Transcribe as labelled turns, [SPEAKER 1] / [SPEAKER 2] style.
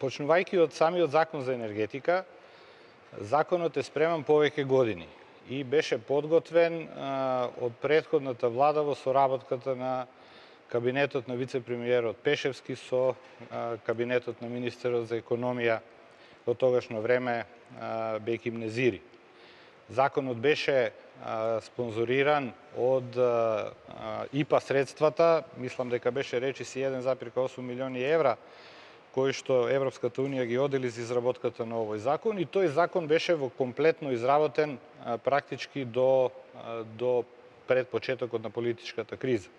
[SPEAKER 1] Почнувајќи од самиот закон за енергетика, законот е спреман повеќе години и беше подготвен од претходната влада во соработката на кабинетот на вице-премиерот Пешевски со кабинетот на министерот за економија во тогашно време Беким Незири. Законот беше спонзориран од ИПА средствата, мислам дека беше речиси 1,8 милиони евра, кои што Европската унија ги одели за изработката на овој закон, и тој закон беше во комплетно изработен практички до пред почетокот на политичката криза.